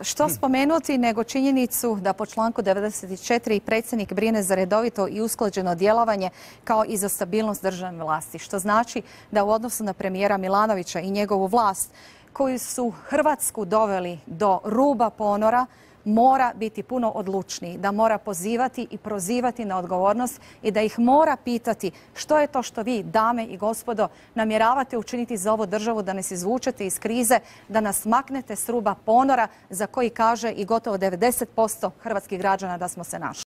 Što spomenuti nego činjenicu da po članku 94 predsjednik brine za redovito i usklađeno djelovanje kao i za stabilnost državne vlasti, što znači da u odnosu na premijera Milanovića i njegovu vlast koji su Hrvatsku doveli do ruba ponora, mora biti puno odlučniji, da mora pozivati i prozivati na odgovornost i da ih mora pitati što je to što vi, dame i gospodo, namjeravate učiniti za ovu državu, da nas izvučete iz krize, da nas maknete s ruba ponora za koji kaže i gotovo 90% hrvatskih građana da smo se našli.